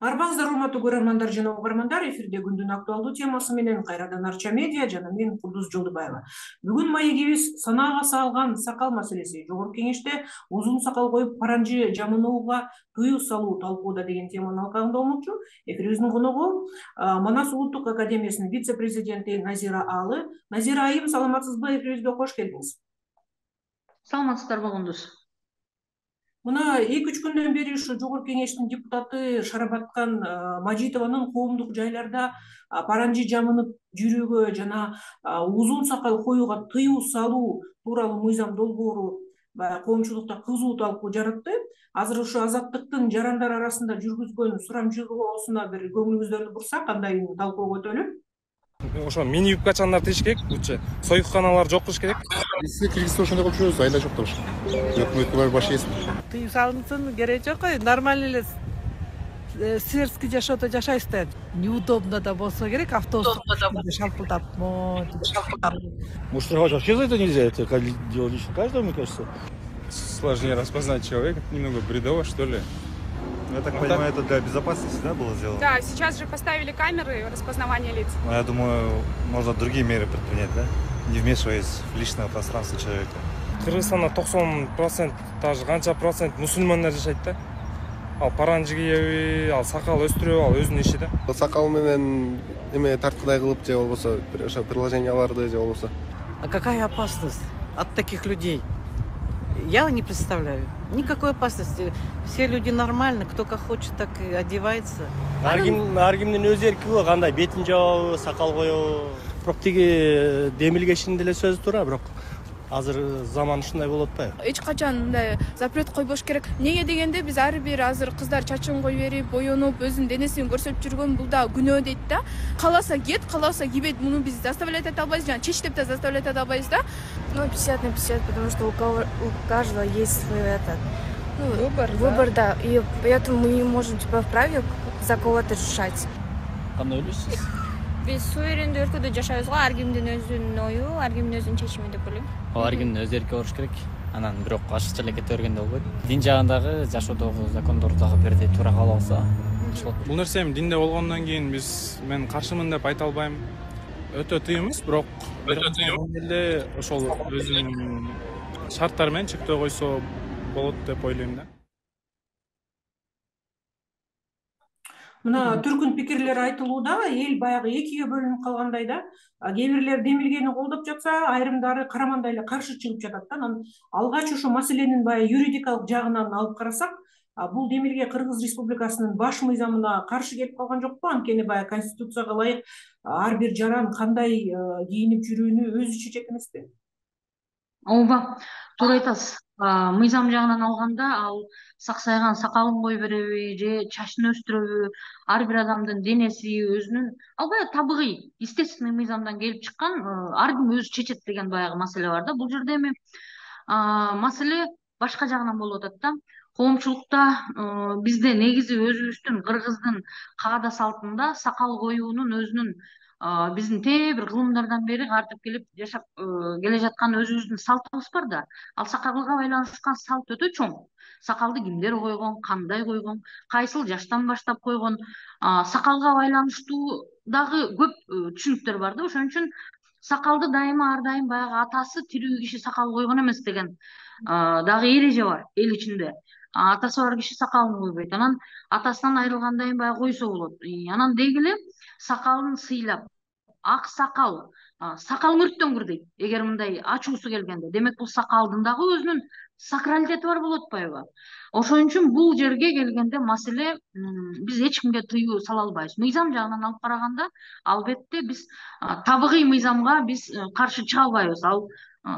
Арбаңыздар урматтуу көрөрмандар жана угармандар, эфирде күндүн актуалдуу темасы менен кайрадан Арча медиа жана мен Кудус Жолдубаева. Бүгүн маегибиз санаага салган сакал маселеси. Жогорку кеңеште узун сакал коюп паранжы жамынууга тыюу салуу талкууда деген теманын алкагында болмокчу. Эфирибиздин коногу Манас улуттук академиясынын вице-президенти Назира Алы. Назира айым, саламатсызбы? Эфирибизге кош келдиңиз. Саламатсыздарбы Кундуз? Мына 2-3 күндөн бери ушу жогорку кеңештин депутаты Шарабаткан Мажитованын коомдук жайларда паранжы жамынып жүрүүгө жана узун сакал коюуга тыюу салуу тууралуу мыйзам долбоору коомчулукта кызуу талкуу жаратты. Азыр ушу Азаттыктын жарандар арасында жүргүзгөн сурамжылоосуна бир көңүлүңүздөрдү бурсак, кандай талкуога өтөлү? Ошо мини юбкачандар тийиш керек, лучше союкканалар жок кылыш керек. Биз Кыргызстанда ошондой кылып жүрөбүз, айла жок деп. Өкмөткө барып баш ийесиң. Тыюу салынсын, кереги жок ой. Нормально эле светский жашоодо жашайбыз да. Неудобно да болсо керек, автобуста шалпылдап. Может, вообще за это нельзя, это дело лично каждого, мне кажется. Сложнее распознать человека, немного бредово, что ли. Я так понимаю, это для безопасности, да, было сделано? Да, сейчас же поставили камеры распознавания лиц. Но я думаю, можно другие меры предпринять, да? Не вмешиваясь в личное пространство человека. Кыргызстанда 90%, даже канча процент мусульмандар жашайт да. Ал паранжы кийеби, ал сакал өстүрөбү, ал өзүнүн иши да. Сакал менен эме тарткыдай кылып же болбосо ошо приложенияларды же болбосо. А какая опасность от таких людей? Я не представляю. Никакой опасности. Все люди нормально, кто как хочет, так и одевается. Ар кимдин өз эрки бар, кандай бетин жабабы, сакал коебу. Бирок тиги демилгешинин деле сөзү туура, бирок азыр заман ушундай болуп атпайбы? Эч качан мындай запрет койбош керек. Неге дегенде биз ар бир азыр кыздар чачын коюп берип, боенуп, өзүнүн денесин көрсөтүп жүргөн, бул да күнөө дейт да. Кааласа кет, кааласа кийбейт. Муну биз заставлять эте албайбыз, жана чеч деп да заставлять эте албайбыз да. 50 на 50, потому что у каждого есть свой выбор, да. И поэтому мы не можем вправе за кого-то решать. Кандай ойлойсуз? Биз суверендүү өлкөдө жашайбыз го, ар кимдин өзүнүн ою, ар кимдин өзүнүн чечими деп ойлойм. Ар кимдин өз эрки болуш керек. Анан бирок ашыкча эле кете бергенде болбойт. Дин жагындагы, жашоодогу закондор дагы бирдей туура кабыл алса болот. Бул нерсе эми динде болгондон кийин мен каршымын деп айта албайм. Өтө тыйым эмес, бирок эле ошол өзүнүн шарттары менен чектөө койсо болот деп ойлойм да. Мына түркүн пикирлер айтылууда, эл баягы экиге бөлүнүп калгандай да. Кээ бирлер демилгени колдоп жатса, айрымдары карамандай эле каршы чыгып жатат да. Анан алгач ушу маселенин баягы юридикалык жагынан алып карасак, бул демилге Кыргыз Республикасынын баш мыйзамына каршы келип калган жокпу? Анткени баягы конституцияга ылайык ар бир жаран кандай кийинип жүрүүнү өзү чечет эмеспи? Ооба, туура айтасыз. Мыйзам жагынан алганда ал саксайган сакалын коюп береби же чачын өстүрөбү, ар бир адамдын денеси өзүнүн албай табигый, естественный мыйзамдан келип чыккан, ар ким өзү чечет деген баягы маселе бар да. Бул жерде эми маселе башка жагынан болуп атат да. Коомчулукта бизде негизи өзүбүздүн кыргыздын каада салтында сакал коюунун өзүнүн биздин бир кылымдардан бери картып келип жашап келе жаткан өзүбүздүн салтыбыз бар да. Ал сакалга байланышкан салт өтө чоң. Сакалды кимдер койгон, кандай койгон, кайсыл жаштан баштап койгон, сакалга байланыштуу дагы көп түшүнүктөр бар да. Ошон үчүн сакалды дайыма ар дайым баягы атасы тирүү киши сакал койгон эмес деген дагы эреже бар эл ичинде. Атасы бар киши сакалын койбойт. Анан атасынан айрылгандан кийин баягы койсо болот. Анан деги эле сакалын сыйлап, ак сакал, сакалың өрттөнгүр дейт. Эгер мындай ачуусу келгенде, демек бул сакалдын дагы өзүнүн сакралитети бар болуп атпайбы? Ошон үчүн бул жерге келгенде маселе биз эч кимге тыюу сала албайбыз. Мыйзам жагынан алып караганда, албетте биз табигый мыйзамга биз каршы чыга албайбыз. Ал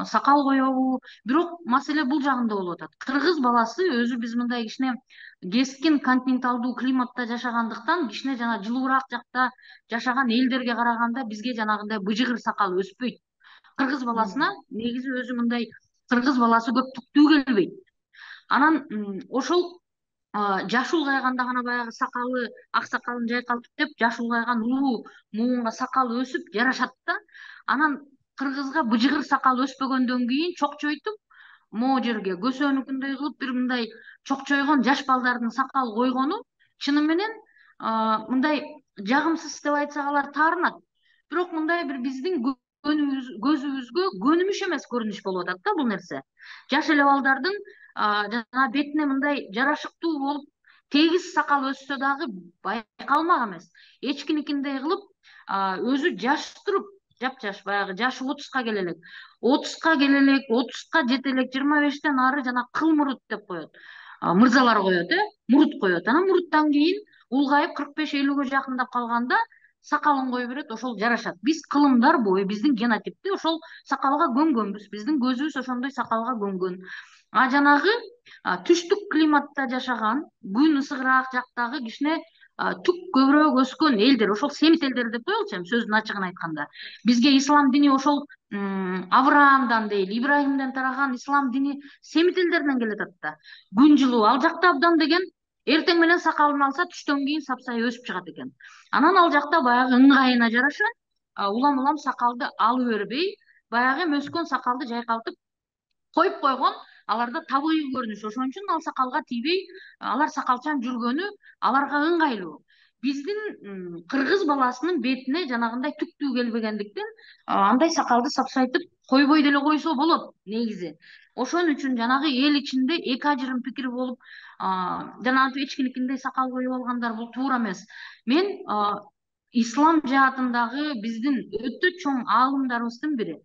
сакал коебу, бирок маселе бул жагында болуп атат. Кыргыз баласы өзү биз мындай кичине кескин континенталдуу климатта жашагандыктан, кичине жана жылуураак жакта жашаган элдерге караганда бизге жанагындай быжыгыр сакал өспөйт. Кыргыз баласына негизи өзү мындай кыргыз баласы көп түктүү келбейт. Анан ошол жаш улгайганда гана баягы сакалы, ак сакалын жайкалтып деп, жаш улгайган улуу муунга сакал өсүп жарашат да. Анан кыргызга быжыгыр сакал өспөгөндөн кийин чокчойтуп, могу жерге көсөнүкүндөй кылып бир мындай чокчойгон жаш балдардын сакал койгону чыны менен мындай жагымсыз деп айтсак алар таарынат. Бирок мындай бир биздин көзүбүзгө көнүмүш эмес көрүнүш болуп атат да бул нерсе. Жаш эле балдардын жана бетине мындай жарашыктуу болуп тегиз сакал өссө дагы байкалмак эмес. Эчкиникиндей кылып өзү жаш туруп, жапжаш баягы жашы 30ка келе элек, 30ка келе элек, 30ка жете элек, 25тен ары жана кыл мурут деп коет. Мырзалар коет, мурут коет. Анан муруттан кийин улгайып 45-50ге жакындап калганда сакалын кое берет, ошол жарашат. Биз кылымдар бою биздин генотипти ошол сакалга көнгөнбүз. Биздин көзүбүз ошондой сакалга көнгөн. Жанагы түштүк климатта жашаган, күн ысыгыраак жактагы кичине түк көбүрөөк өскөн элдер, ошол семит элдер деп коелучу, сөздүн ачыгын айтканда. Бизге ислам дини ошол Авраамдан дейли, Ибрахимден тараган ислам дини семит элдерден келе атат да. Күн жылуу, ал жакта абдан деген эртең менен сакалын алса түштөн кийин сапсай өсүп чыгат экен. Анан ал жакта баягы ыңгайына жараша улам сакалды алып бербей, баягы өскөн сакалды жайкалтып коюп койгон. Аларда табигый көрүнүш, ошон үчүн ал сакалга тийбей, алар сакалчан жүргөнү аларга ыңгайлуу. Биздин кыргыз баласынын бетине жанагындай түктүү келбегендиктен андай сакалды сапсайтып койбой деле койсо болот негизи. Ошон үчүн жанагы эл ичинде эки ажырым пикир болуп, жанагы эчкиникиндей сакал коюп алгандар бул туура эмес. Мен ислам жаатындагы биздин өтө чоң аалымдарыбыздын бири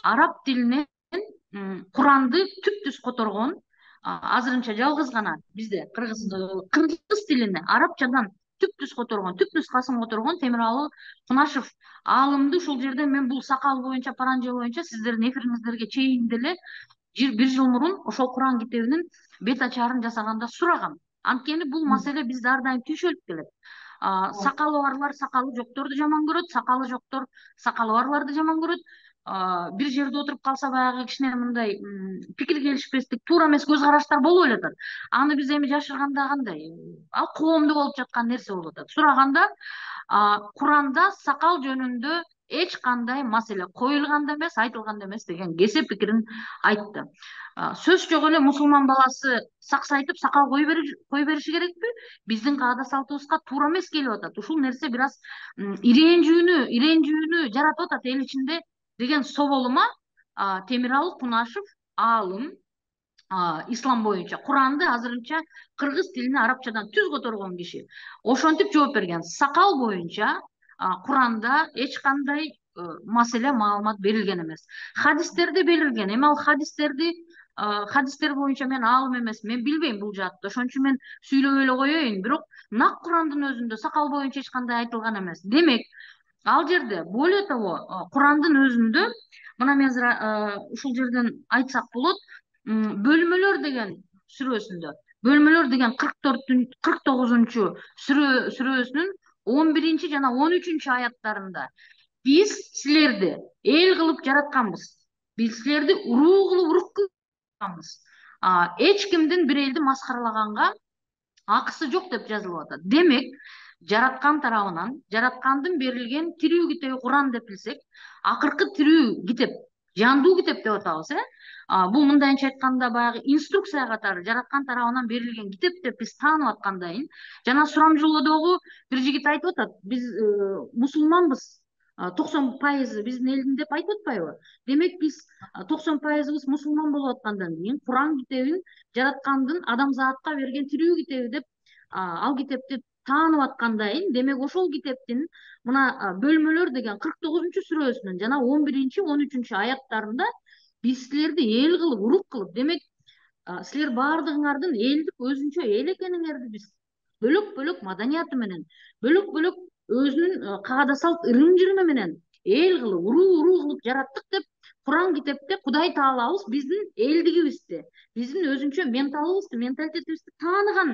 араб тилинен Куранды түп-түз которгон, азырынча жалгыз гана бизде кыргыз тилине арабчадан түп-түз которгон, түп нускасын которгон Темиралы Кунашев аалымды ушул жерде мен бул сакал боюнча, паранжа боюнча сиздердин эфириңиздерге чейин деле 1 жыл мурун ошол Куран китебинин бет ачарын жасаганда сурагам. Анткени бул маселе бизде ар дайым түйшөлүп келет. Сакалы барлар сакалы жокторду жаман көрөт, сакалы жоктор сакалы барларды жаман көрөт. Бир жерде отуруп калса баягы кичине мындай пикир келишпестик, туура эмес көз караштар болуп эле атат. Аны биз эми жашырганда кандай? Ал коомдо болуп жаткан нерсе болуп атат. Сураганда Куранда сакал жөнүндө эч кандай маселе коюлган да эмес, айтылган да эмес деген кесип пикирин айтты. Сөз жок эле мусулман баласы саксайтып сакал кой бериши керекпи? Биздин каада салтыбызга туура эмес келип атат. Ушул нерсе бир аз иренжүүнү жаратып атат эл ичинде деген соболума Темиралы Кунашев аалым, ислам боюнча Куранды азырынча кыргыз тилине арабчадан түз которгон киши ошентип жооп берген. Сакал боюнча Куранда эч кандай маселе маалымат берилген эмес. Хадистерде берилген. Эми ал хадистер боюнча мен аалым эмес, мен билбейм бул жаатты. Ошон үчүн мен сүйлөбөй эле коеюн. Бирок нак Курандын өзүндө сакал боюнча эч кандай айтылган эмес. Демек, ал жерде более того Курандын өзүндө мына мен ушул жерден айтсак болот, бөлмөлөр деген сүрөсүндө, бөлмөлөр деген 49 сүрөсүнүн 11 жана 13 аяттарында биз силерди эл кылып жаратканбыз. Биз силерди уруу кылып урук кылганбыз. Эч кимдин бир элди маскаралаганга акысы жок деп жазылып атат. Демек, жараткан тарабынан, жараткандын берилген тирүү китеби Куран деп билсек, акыркы тирүү китеп, жандуу китеп деп атабыз, бул мындайынча айтканда баягы инструкция катары жараткан тарабынан берилген китеп деп биз таанып аткандайын. Жана сурамжылоодогу бир жигит айтып атат, биз мусулманбыз, 90% биздин элдин деп айтып атпайбы? Демек биз 90% мусулман болуп аткандан кийин Куран китебин жараткандын адамзатка берген тирүү китеби деп ал китепти таанып аткандайын. Демек ошол китептин мына бөлмөлөр деген 49 сүрөсүнүн жана 11-13 аяттарында биз силерди эл кылып, урук кылып, демек силер баардыгыңардын элдик өзүнчө эл экениңерди биз бөлөк маданияты менен, бөлөк өзүнүн каада салт ырым-жырымы менен эл кылып, уруу кылып жараттык деп Куран китепте Кудай Таалабыз биздин элдигибизди, биздин өзүнчө менталыбызды, менталитетибизди тааныган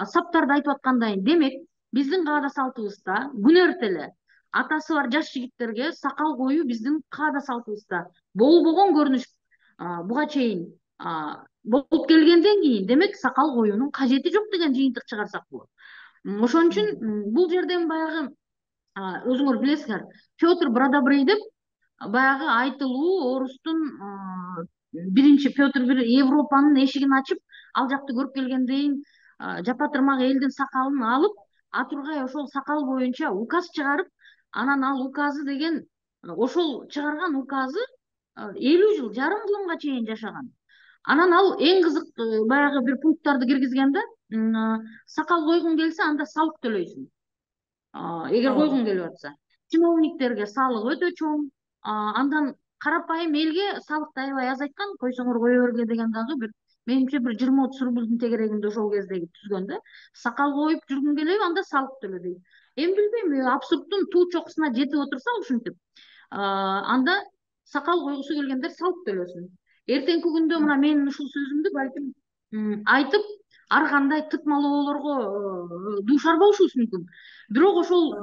саптарды айтып аткандайын. Демек, биздин каада салтыбызда күн эртеле атасы бар жаш жигиттерге сакал коюу биздин каада салтыбызда болбогон көрүнүш буга чейин болуп келгенден кийин, демек сакал коюунун кажети жок деген жыйынтык чыгарсак болот. Ошон үчүн бул жерден баягы өзүңөр билесиңер, Петр Бродобрей деп баягы айтылуу орустун биринчи Петр бир Европанын эшигин ачып, ал жакты көрүп келгендейин жапа тырмак элдин сакалын алып, Атургай ошол сакал боюнча указ чыгарып, анан ал указы деген ошол чыгарган указы 50 жыл, жарым кылымга чейин жашаган. Анан ал эң кызык баягы бир пункттарды киргизген да, сакал койгуң келсе анда салык төлөйсүң. Эгер койгуң келип атса, чиновниктерге салык өтө чоң. Андан карапайым элге салыкты аябай азайткан, койсоңор кое берге деген дагы бир менимче бир 20-30 рублдун тегерегинде ошол кездеги түзгөн да. Сакал коюп жүргүң келеби, анда салык төлө дейт. Эми билбейм, абсурдтун туу чокусуна жетип отурса ушинтип, анда сакал койгусу келгендер салык төлөсүн. Эртеңки күндө мына менин ушул сөзүмдү балким айтып, ар кандай тытмалоолорго дуушар болушубуз мүмкүн. Бирок ошол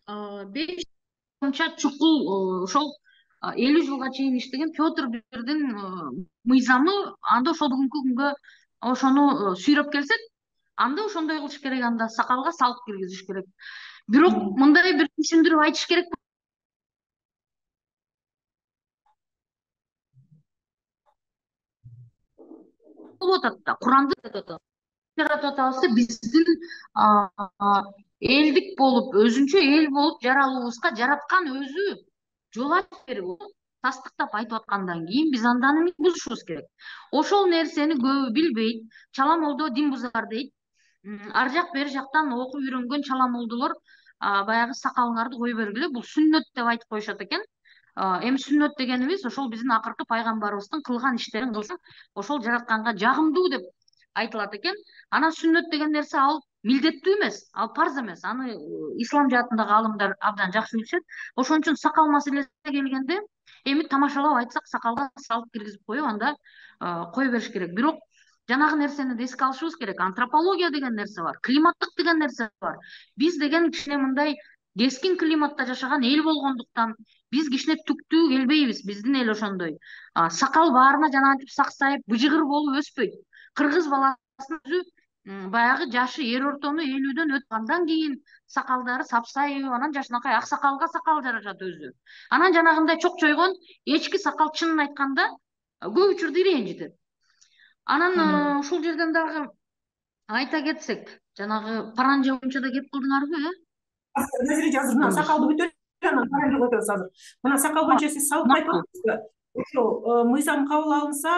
боюнча чукул ошол 50 жылга чейин иштеген Петр Бирдин мыйзамы, анда ошол бүгүнкү күнгө ошону сүйрөп келсек, анда ошондой кылыш керек, анда сакалга салык киргизиш керек. Бирок мындай бир түшүндүрүп айтыш керек болуп атат да. Куранды жаратып атабыз, биздин элдик болуп, өзүнчө эл болуп жаралуубузга жараткан өзү жол ачып берип, тастыктап айтып аткандан кийин биз анданы бузушубуз керек. Ошол нерсени көбү билбейт. Чала молдо дин бузар дейт. Ар жак бери жактан окуп үйрөнгөн чала молдолор баягы сакалыңарды кое бергиле, бул сүннөт деп айтып коюшат экен. Эми сүннөт дегенибиз ошол биздин акыркы пайгамбарыбыздын кылган иштерин кылсаң, ошол жаратканга жагымдуу деп айтылат экен. Анан сүннөт деген нерсе ал милдеттүү эмес, ал парз эмес. Аны ислам жаатындагы алымдар абдан жакшы билишет. Ошон үчүн сакал маселесине келгенде, эми тамашалап айтсак, сакалга салык киргизип коюп, анда кое бериш керек. Бирок жанагы нерсени да эске алышыбыз керек. Антропология деген нерсе бар, климаттык деген нерсе бар. Биз деген кичине мындай кескин климатта жашаган эл болгондуктан биз кичине түктүү келбейбиз. Биздин эл ошондой. Сакал баарына жанагынтип саксайып, быжыгыр болуп өспөйт. Кыргыз баласынын өзү баягы жашы эр ортону 50дөн өткөндөн кийин сакалдары сапсайып, анан жашынакай ак сакалга сакал жарашат өзү. Анан жанагындай чокчойгон эчки сакал чынын айтканда көп учурда ренжитет. Анан ушул жерден дагы айта кетсек, жанагы паранжа боюнча да кеп кылдыңарбы, Азыр мына сакалды бүтөт, анан паранжа өтөбүз азыр. Мына сакал боюнча сиз салык айтып атасызбы? Ошо мыйзам кабыл алынса,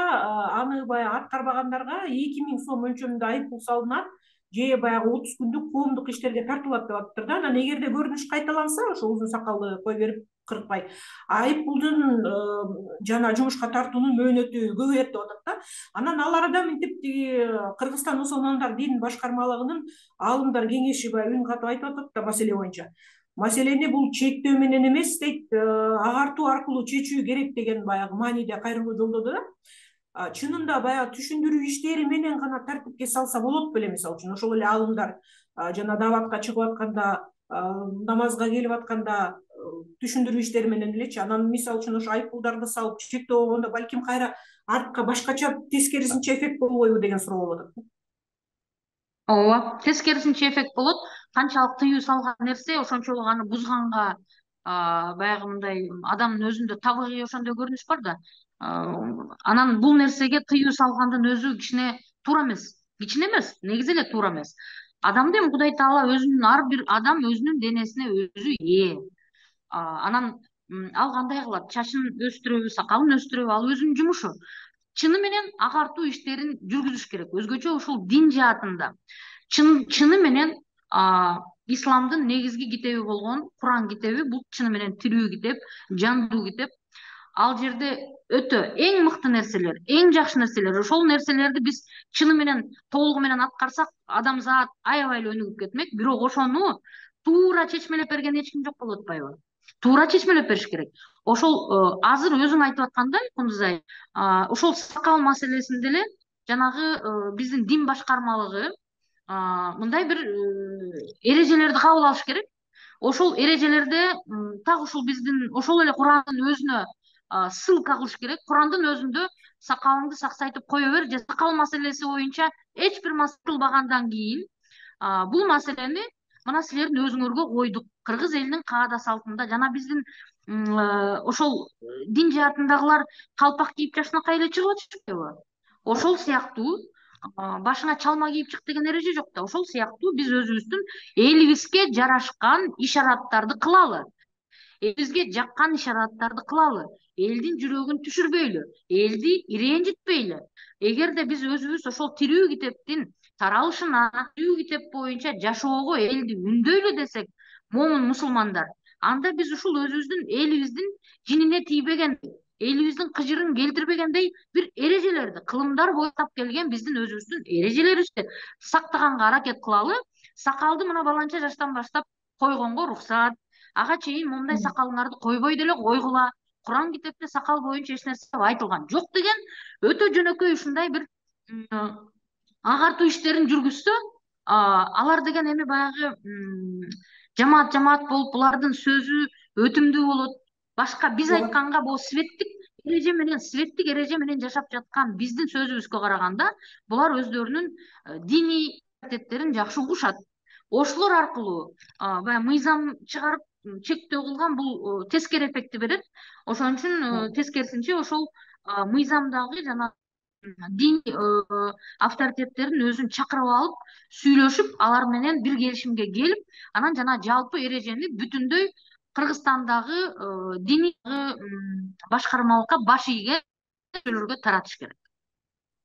аны баягы аткарбагандарга 2000 сом мөлчөрүндө айыппул салынат, же баягы 30 күндүк коомдук иштерге тартылат деп атыптыр да. Анан эгерде көрүнүш кайталанса, ошо узун сакалды кое берип кыркпай, айыппулдун жана жумушка тартуунун мөөнөтү көбөйөт деп атат да. Анан ал арада мынтип Кыргызстан мусулмандар дин башкармалыгынын аалымдар кеңеши баягы үн катып айтып атат да маселе боюнча. Маселени бул чектөө менен эмес дейт, агартуу аркылуу чечүү керек деген баягы мааниде кайрылуу жолдоду да. Чынында баягы түшүндүрүү иштери менен гана тартипке салса болот беле, мисалы үчүн ошол эле аалымдар жана даватка чыгып атканда, намазга келип атканда түшүндүрүү иштери менен элечи. Анан мисалы үчүн ошо айыппулдарды салып чектөө болгондо балким кайра артка башкача тескерисинче эффект болбойбу деген суроо болуп атат. Ооба, тескерисинче эффект болот. Канчалык тыюу салган нерсе ошончолук аны бузганга баягы мындай адамдын өзүндө табигый ошондой көрүнүш бар да. Анан бул нерсеге тыюу салгандын өзү кичине туура эмес. Кичине эмес, негизи эле туура эмес. Адамды эми Кудай Таала өзүнүн, ар бир адам өзүнүн денесине өзү ээ. Анан ал кандай кылат? Чачын өстүрөбү, сакалын өстүрөбү, ал өзүнүн жумушу. Чыны менен агартуу иштерин жүргүзүш керек. Өзгөчө ушул дин жаатында чыны менен исламдын негизги китеби болгон Куран китеби, бул чыны менен тирүү китеп, жандуу китеп. Ал жерде өтө эң мыкты нерселер, эң жакшы нерселер, ошол нерселерди биз чыны менен толугу менен аткарсак, адамзат аябай эле өнүгүп кетмек. Бирок ошону туура чечмелеп берген эч ким жок болуп атпайбы? Туура чечмелеп бериш керек. Ошол азыр өзүң айтып аткандай, Кундузай, ошол сакал маселесинде эле жанагы биздин дин башкармалыгы мындай бир эрежелерди кабыл алыш керек. Ошол эрежелерде так ушул биздин ошол эле Курандын өзүнө ссылка кылыш керек. Курандын өзүндө сакалыңды саксайтып кое бер, же сакал маселеси боюнча эч бир маселе кылбагандан кийин бул маселени мына силердин өзүңөргө койдук. Кыргыз элинин каада салтында жана биздин ошол дин жаатындагылар калпак кийип жашынакай эле чыгып атышпайбы? Ошол сыяктуу башыңа чалма кийип чык деген эреже жок да. Ошол сыяктуу биз өзүбүздүн элибизге жарашкан ишараттарды кылалы. Элибизге жаккан ишараттарды кылалы. Элдин жүрөгүн түшүрбөйлү, элди ренжитпейлү. Эгерде биз өзүбүз ошол тирүү китептин таралышына, тирүү китеп боюнча жашоого элди үндөйлү десек, момун мусулмандар, анда биз ушул өзүбүздүн элибиздин жинине тийбеген, элибиздин кыжырын келтирбегендей бир эрежелерди, кылымдар бойтап келген биздин өзүбүздүн эрежелерибизди сактаганга аракет кылалы. Сакалды мына баланча жаштан баштап койгонго уруксат. Ага чейин момундай сакалыңарды койбой деле койгула. Куран китепте сакал боюнча эч нерсе айтылган жок деген өтө жөнөкөй ушундай бир агартуу иштерин жүргүзсө, алар деген эми баягы жамаат болуп булардын сөзү өтүмдүү болот. Башка биз айтканга бул светтик эреже менен жашап жаткан биздин сөзүбүзгө караганда булар өздөрүнүн диний адеттерин жакшы угушат. Ошолор аркылуу баягы мыйзам чыгарып чектөө кылган бул тескери эффектти берет. Ошон үчүн тескерисинче ошол мыйзамдагы жана дин авторитеттерин өзүн чакырып алып, сүйлөшүп, алар менен бир келишимге келип, анан жана жалпы эрежени бүтүндөй Кыргызстандагы диний башкармалыкка баш ийген нерселерге таратыш керек.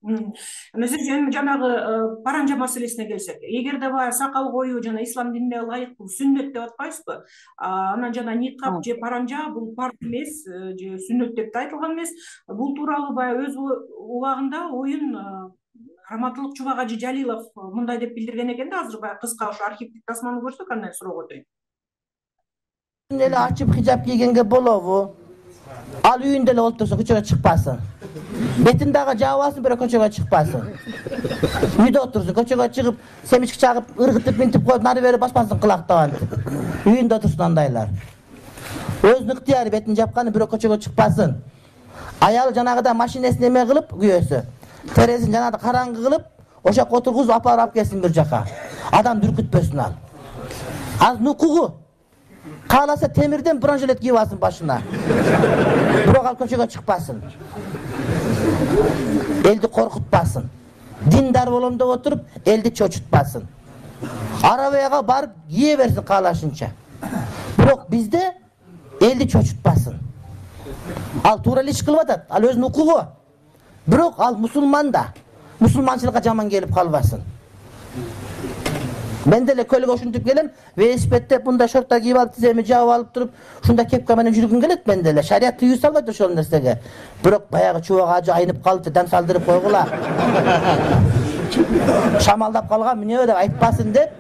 Эми жанагы паранжа маселесине келсек, эгерде баягы сакал коюу жана ислам динине ылайыктуу сүннөт деп атпайбызбы? Анан жана никап же паранжа бул парз эмес, же сүннөт деп да айтылган эмес. Бул тууралуу баягы өз убагында оюн Раматылык Чубак Жалилов мындай деп билдирген экен да, азыр баягы кыска ошо архивдик тасманы көрсөк андан суроо өтөйүн. Эле ачып хижап кийгенге болобу? Ал үйүндө эле олтурса көчөгө чыкпасын. Бетин дагы жаап алсын, бирок көчөгө чыкпасын. Үйдө отурсун, көчөгө чыгып, семички чагып, ыргытып, минтип коюп, нары бери баспасын кылактап. Үйүндө отурсун андайлар. Өзүнүн ыктыяры бетин жапканы, бирок көчөгө чыкпасын. Аялы жанагыда машинесин эме кылып, күйөөсү. Терезин жанагыда караңгы кылып, ошо жака отургузуп алып келсин бир жака. Адам дүркүтпөсүн ал. Az нукугу. Кааласа темирден бронжилет кийип алсын башына. Бирок ал көчөгө чыкпасын. Элди коркутпасын. Диндар болом деп отуруп, элди чочутпасын. Арабияга барып кие берсин каалашынча. Бирок бизде элди чочутпасын. Ал туура эле иш кылып атат, ал өзүнүн укугу. Бирок ал мусулман да. Мусулманчылыкка жаман келип калбасын. Мен деле көлгө ушинтип келем, велосипедде мындай шорттар кийип алып, тиземи жаап алып туруп, ушундай кепка менен жүргүм келет мен деле. Шарият тыюу салбайт ошол нерсеге. Бирок баягы Чубак ажы айнып калыпты, дам салдырып койгула. Шамалдап калган эмне деп айтпасын деп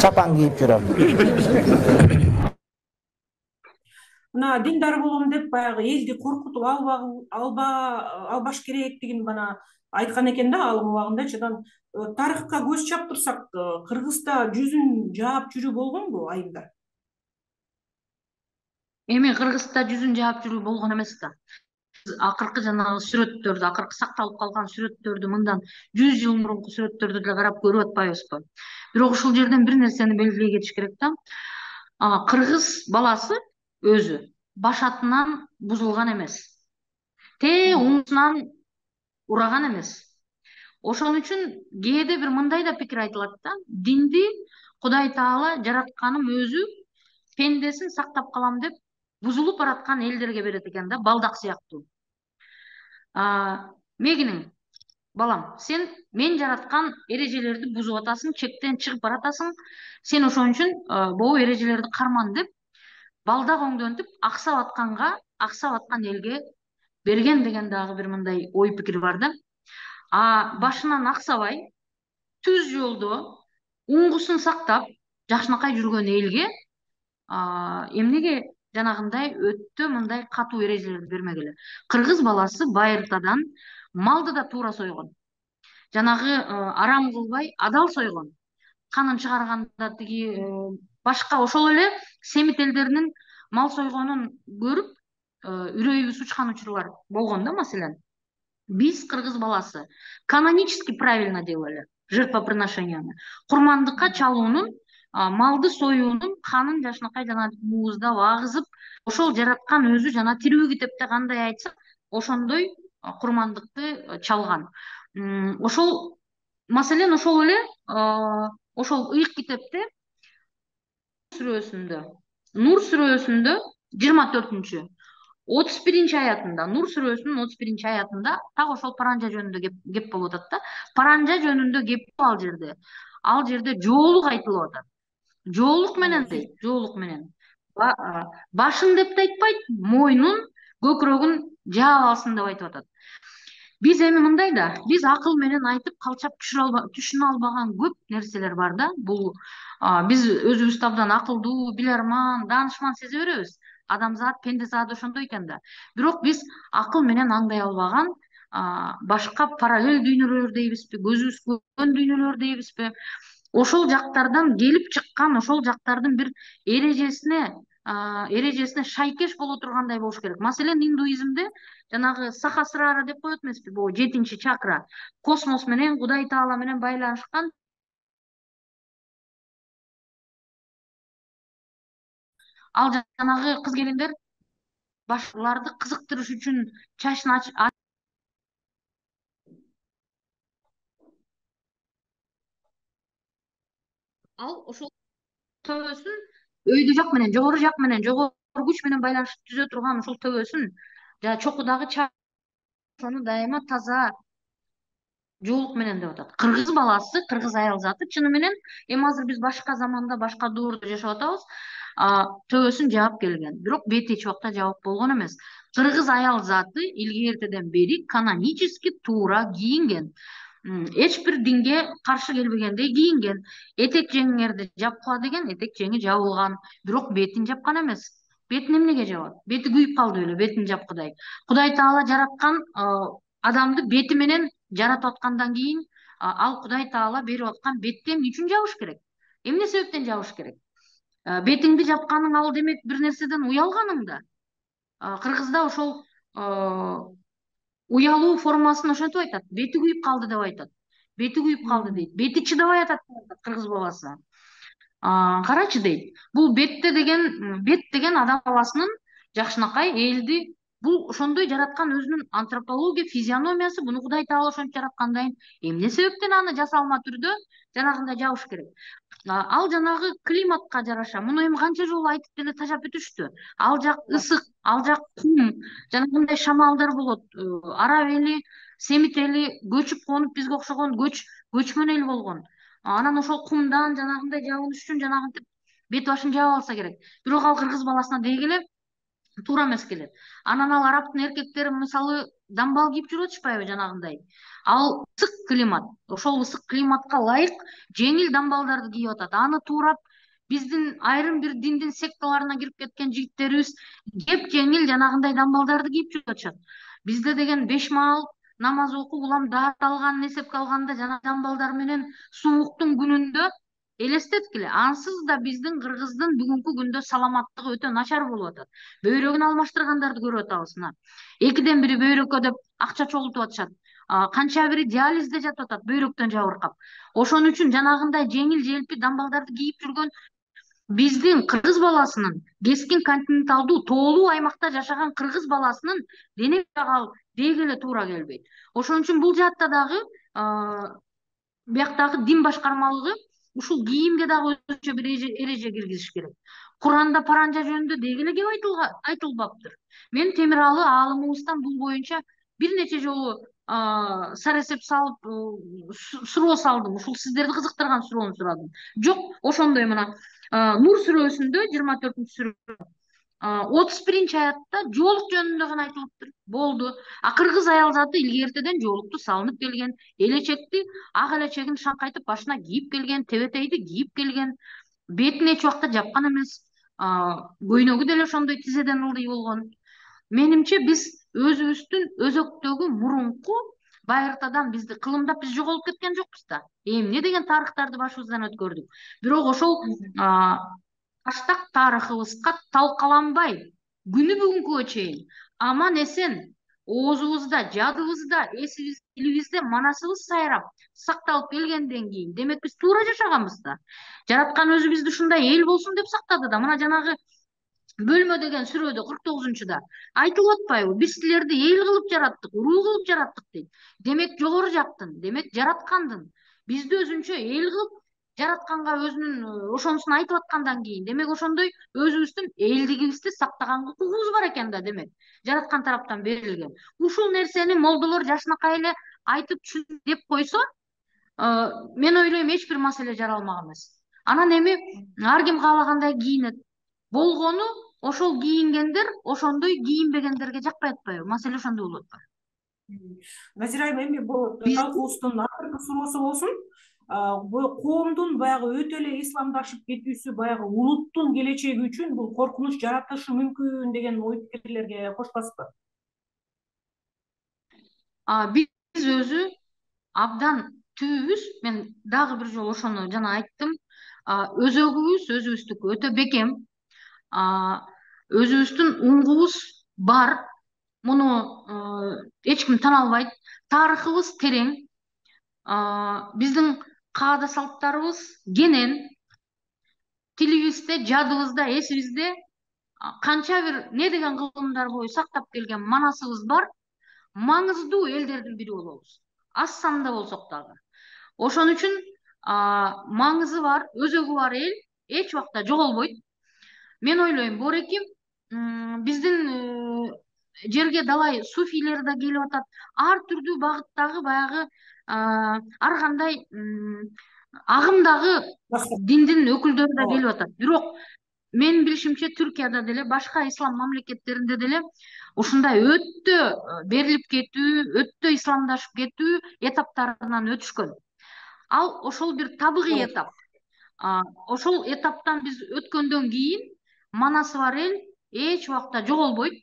чапан кийип жүрөм. Мына диндар болом деп баягы элди коркутуп албаш керектигин бана айткан экен да алым убагындачы. Тарыхка көз чаптырсак, Кыргызда жүзүн жаап жүрүү болгонбу айымдар? Эми Кыргызда жүзүн жаап жүрүү болгон эмес да. Акыркы жанагы сүрөттөрдү, акыркы сакталып калган сүрөттөрдү, мындан 100 жыл мурунку сүрөттөрдү деле карап көрүп атпайбызбы? Бирок ушул жерден бир нерсени белгилей кетиш керек да. Кыргыз баласы өзү башатынан бузулган эмес. Уңусунан ураган эмес. Ошон үчүн кээде бир мындай да пикир айтылат да. Динди Кудай Таала жаратканым өзү пендесин сактап калам деп бузулуп бараткан элдерге берет экен да, балдак сыяктуу. Мегиниң, балам, сен мен жараткан эрежелерди бузуп атасың, чектен чыгып баратасың. Сен ошон үчүн могу эрежелерди карман деп балдак оңдонтуп аксап аткан элге берген деген дагы бир мындай ой пикир бар да. Башынан аксабай, түз жолдо уңгусун сактап жакшынакай жүргөн элге эмнеге жанагындай өтө мындай катуу эрежелерди бермегиле? Кыргыз баласы байыртадан малды да туура сойгон. Жанагы арам кылбай адал сойгон. Канын чыгарганда тиги башка ошол эле семит элдеринин мал сойгонун көрүп үрөйүбүз учкан учурлар болгон да. Маселен, биз кыргыз баласы канонически правильно делали жертвоприношенияны. Курмандыкка чалуунун малды союунун канын жакшынакай жана мууздап агызып, ошол жараткан өзү жана тирүү китепте кандай айтса ошондой курмандыкты чалган. Ошол маселен ошол эле ошол ыйык китепте Нур сүрөсүндө 24-31 аятында, Нур сүрөсүнүн 31 аятында так ошол паранжа жөнүндө кеп болуп атат да. Паранжа жөнүндө кеп ал жерде жоолук айтылып атат. Жоолук менен дейт, жоолук менен. Башын деп да айтпайт, мойнун, көкүрөгүн жаап алсын деп айтып атат. Биз эми мындай да, биз акыл менен айтып калчап түшүнө албаган көп нерселер бар да. Бул биз өзүбүздү абдан акылдуу, билерман, даанышман сезе беребиз. Адамзат, пенде зат ошондой экен да. Бирок биз акыл менен аңдай албаган башка параллель дүйнөлөр дейбизби, көзүбүз көргөн дүйнөлөр дейбизби, ошол жактардан келип чыккан, ошол жактардын бир эрежесине шайкеш боло тургандай болуш керек. Маселен, индуизмде жанагы сахасрара деп коет эмеспи, бул 7-чакра, космос менен, Кудай Таала менен байланышкан. Ал жанагы кыз келиндер башкаларды кызыктырыш үчүн чачын ал ошол төбөсүн өйдө жак менен, жогору жак менен, жогору күч менен байланышып түзө турган ошол төбөсүн жана чокудагы ошону дайыма таза жоолук менен деп атат. Кыргыз баласы, кыргыз аял заты чыны менен эми азыр биз башка заманда, башка доордо жашап атабыз. Төбөсүн жаап келген, бирок бети эч убакта жабык болгон эмес. Кыргыз аял заты илгертеден бери канонически туура кийинген. Эч бир динге каршы келбегендей кийинген. Этек жеңиңерди жапкыла деген этек жеңи жабылган, бирок бетин жапкан эмес. Бетин эмнеге жабат? Бети күйүп калды беле, бетин жапкыдай. Кудай Таала жараткан адамды бети менен жаратып аткандан кийин ал Кудай Таала берип аткан бетти эмне үчүн жабыш керек? Эмне себептен жабыш керек? Бетиңди жапканың ал демек бир нерседен уялганың да. Кыргызда ошол уялуу формасын ошентип айтат. Бети күйүп калды деп айтат. Бети күйүп калды дейт. Бети чыдабай атат кыргыз баласы. Карачы дейт. Бул бет деген адам баласынын жакшынакай элди бул ошондой жараткан өзүнүн антропология, физиономиясы, буну Кудай Таала ошентип жараткандан эмне себептен аны жасалма түрдө жанагындай жабыш керек? Ал жанагы климатка жараша, муну эми канча жолу айтып деле тажап өтүштү. Ал жак ысык, ал жак кум, жанагындай шамалдар болот. Араб эли, Семит эли көчүп конуп бизге окшогон көчмөн эл болгон. Анан ошол кумдан жанагындай жабыныш үчүн жанагынтип бет башын жаап алса керек. Бирок ал кыргыз баласына дегеле туура эмес келет. Анан ал арабтын эркектери мисалы дамбал кийип жүрүп атышпайбы жанагындай. Ал ысык климат, ошол ысык климатка ылайык жеңил дамбалдарды кийип атат. Аны туурап биздин айрым бир диндин секталарына кирип кеткен жигиттерибиз кеп жеңил жанагындай дамбалдарды кийип жүрүп атышат. Бизде деген 5 маал намаз окуп улам даат алган эсепке алганда жана дамбалдар менен сууктун күнүндө элестеткиле. Ансыз да биздин кыргыздын бүгүнкү күндө саламаттыгы өтө начар болуп атат. Бөйрөгүн алмаштыргандарды көрүп атабыз. 2-ден бири бөйрөккө деп акча чогултуп атышат. Канча бири диализде жатып атат бөйрөктөн жабыркап. Ошон үчүн жанагындай жеңил желпи дамбалдарды кийип жүргөн биздин кыргыз баласынын кескин континенталдуу тоолуу аймакта жашаган кыргыз баласынын дене жагал дегеле туура келбейт. Ошон үчүн бул жаатта дагы бияктагы дин башкармалыгы ушул кийимге дагы өзүнчө бир эреже киргизиш керек. Куранда паранжа жөнүндө дегеле кеп айтылбаптыр. Мен Темиралы аалымыбыздан бул боюнча бир нече жолу саресеп салып суроо салдым. Ушул сиздерди кызыктырган суроону сурадым. Жок, ошондой мына Нур сүрөсүндө 24-сүрө 31-аятта жоолук жөнүндө гана айтылыптыр. Болду. Кыргыз аял заты илгертеден жоолукту салынып келген, элечекти, ак элечегин шаңкайтып башына кийип келген, тебетейди кийип келген, бетин эч убакта жапкан эмес, көйнөгү деле ошондой тизеден ылдый болгон. Менимче биз өзүбүздүн өзөктөгү мурунку байыртадан бизди кылымдап биз жоголуп кеткен жокпуз да. Эмне деген тарыхтарды башыбыздан өткөрдүк. Бирок ошол таштак тарыхыбызга талкаланбай күнү бүгүнкүгө чейин аман эсен оозубузда, жадыбызда, эсибизде, тилибизде манасыбыз сайрап, сакталып келгенден кийин, демек биз туура жашаганбыз да. Жараткан өзү бизди ушундай эл болсун деп сактады да. Мына жанагы бөлмө деген сүрөдө 49-да айтылып атпайбы? Биз силерди эл кылып жараттык, уруу кылып жараттык дейт. Демек жогору жактын, демек жараткандын бизди өзүнчө эл кылып жаратканга өзүнүн ошонусун айтып аткандан кийин, демек ошондой өзүбүздүн элдигибизди сактаганга укугубуз бар экен да, демек жараткан тараптан берилген. Ушул нерсени молдолор жашынакай эле айтып түшүн деп койсо, мен ойлойм эч бир маселе жаралмак эмес. Анан эми ар ким каалагандай кийинет. Болгону ошол кийингендер ошондой кийинбегендерге жакпай атпайбы? Маселе ошондо болуп атпайбы? Назира айым, эми бул талкуубуздун акыркы суроосу болсун. Бул коомдун баягы өтө эле исламдашып кетүүсү баягы улуттун келечеги үчүн бул коркунуч жаратышы мүмкүн деген ой пикирлерге коштасызбы? Биз өзү абдан түбүбүз. Мен дагы бир жолу ошону жана айттым. Өзөгүбүз өзүбүздүкү өтө бекем. Өзүбүздүн уңгубуз бар. Муну эч ким тана албайт. Тарыхыбыз терең. Биздин каада салттарыбыз кенен. Тилибизде, жадыбызда, эсибизде канча бир не деген кылымдар бою сактап келген манасыбыз бар. Маңыздуу элдердин бири болобуз. Аз санда болсок дагы. Ошон үчүн маңызы бар, өзөгү бар эл эч убакта жоголбойт. Мен ойлойм, Бореким биздин жерге далай суфийлер да келип атат. Ар түрдүү багыттагы баягы ар кандай агымдагы диндин өкүлдөрү да келип атат. Бирок менин билишимче Түркияда деле, башка ислам мамлекеттеринде деле ушундай өтө берилип кетүү, өтө исламдашып кетүү этаптарынан өтүшкөн. Ал ошол бир табигый этап. Ошол этаптан биз өткөндөн кийин манасы бар эл эч убакта жоголбойт.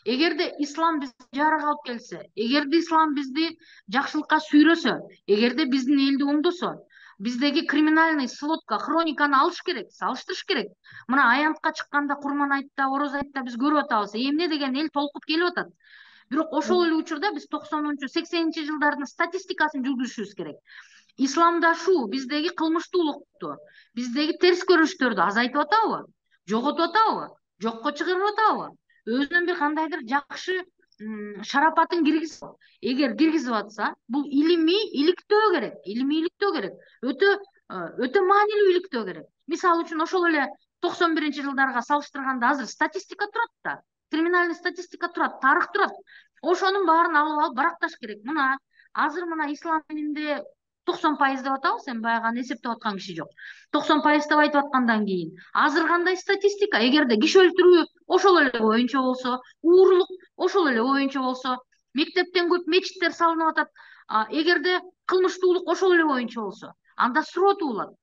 Эгерде ислам бизди жарык алып келсе, эгерде ислам бизди жакшылыкка сүйрөсө, эгерде биздин элди оңдосо, биздеги криминальный сводка, хрониканы алыш керек, салыштырыш керек. Мына аянтка чыкканда Курман айтта, Ороз айтта биз көрүп атабыз, эмне деген эл толкуп келип атат. Бирок ошол эле учурда биз 90-80 жылдардын статистикасын жүргүзүшүбүз керек. Исламдашуу биздеги кылмыштуулукту, биздеги терс көрүнүштөрдү азайтып атабы? Жоготуп атабы? Жокко чыгарып атабы? Өзүнүн бир кандайдыр жакшы шарапатын киргизип, эгер киргизип атса, бул илимий иликтөө керек, илимий иликтөө керек. Өтө маанилүү иликтөө керек. Мисалы үчүн ошол эле 91-жылдарга салыштырганда азыр статистика турат да. Криминальный статистика турат, тарых турат. Ошонун баарын алып баракташ керек. Мына азыр мына ислам дининде 90% деп атабыз, эми баягы эсептеп аткан киши жок. 90% деп айтып аткандан кийин азыр кандай статистика? Эгерде киши өлтүрүү ошол эле боюнча болсо, уурулук ошол эле боюнча болсо, мектептен көп мечиттер салынып атат. Эгерде кылмыштуулук ошол эле боюнча болсо, анда суроо туулат.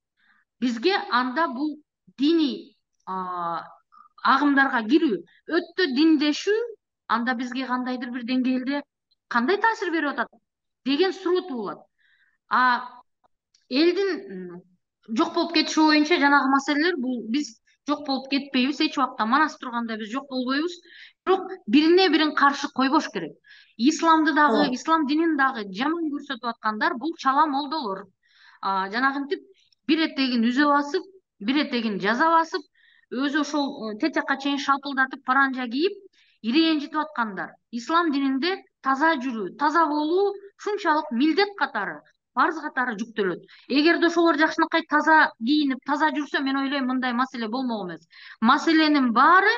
Бизге анда бул диний агымдарга кирүү, өтө диндешүү анда бизге кандайдыр бир деңгээлде кандай таасир берип атат деген суроо туулат. Элдин жок болуп кетиши боюнча жанагы маселелер, бул биз жок болуп кетпейбиз, эч убакта манас турганда биз жок болбойбуз. Бирок бирине бирин каршы койбош керек. Исламды дагы, ислам динин дагы жаман көрсөтүп аткандар бул чала молдолор. Жанагынтип бир этегин үзө басып, бир этегин жаза басып, өзү ошол тетякка чейин шалпылдатып паранжа кийип, ирэнжитип аткандар. Ислам дининде таза жүрүү, таза болуу ушунчалык милдет катары, парз катары жүктөлөт. Эгерде ошолор жакшынакай таза кийинип, таза жүрсө, мен ойлойм мындай маселе болмок эмес. Маселенин баары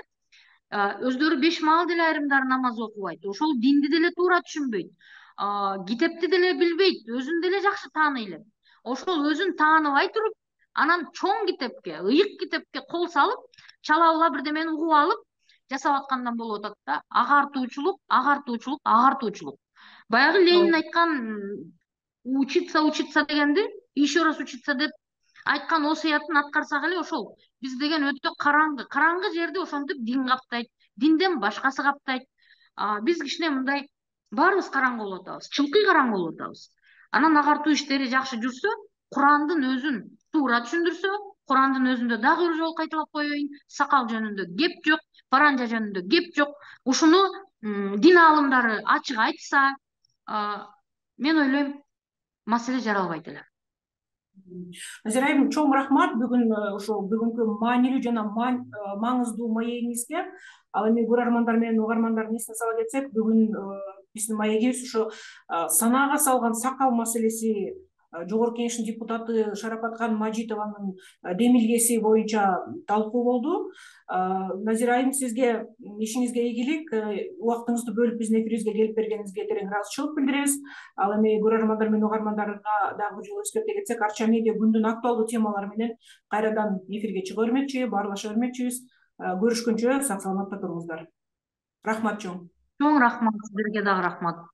өздөрү 5 маал деле айрымдары намаз окубайт. Ошол динди деле туура түшүнбөйт. Китепти деле билбейт, өзүн деле жакшы тааный элек. Ошол өзүн тааныбай туруп, анан чоң китепке, ыйык китепке кол салып, чала бирдемени угуп алып жасап аткандан болуп атат да. Агартуучулук, агартуучулук, агартуучулук. Баягы Ленин айткан учиться дегенди, еще раз учиться деп айткан осуятын аткарсак эле ошол биз деген өтө караңгы жерди ошентип дин каптайт, динден башкасы каптайт. Биз кичине мындай баарыбыз караңгы болуп атабыз, чылкый караңгы болуп атабыз. Анан агартуу иштери жакшы жүрсө, Курандын өзүн туура түшүндүрсө, Курандын өзүндө дагы бир жолу кайталап коеюн, сакал жөнүндө кеп жок, паранжа жөнүндө кеп жок. Ушуну дин аалымдары ачык айтса, мен ойлойм маселе жаралбайт эле. Назира айым, чоң рахмат бүгүн ошо бүгүнкү маанилүү жана маңыздуу маегиңизге. Ал эми көрөрмандар менен угармандардын эсине сала кетсек, бүгүн биздин маегибиз ошо санаага салган сакал маселеси, Жогорку Кеңештин депутаты Шарапаткан Мажитованын демилгеси боюнча талкуу болду. Назира айым, сизге ишиңизге ийгилик, убактыңызды бөлүп биздин эфирибизге келип бергениңизге терең ыраазычылык билдиребиз. Ал эми көрөрмандар менен угармандарга дагы бир жолу эскерте кетсек, Арча медиа күндүн актуалдуу темалары менен кайрадан эфирге чыга бермекчи, баарлаша бермекчибиз. Көрүшкөнчө сак саламатта туруңуздар. Рахмат чоң. Чоң рахмат, сиздерге дагы рахмат.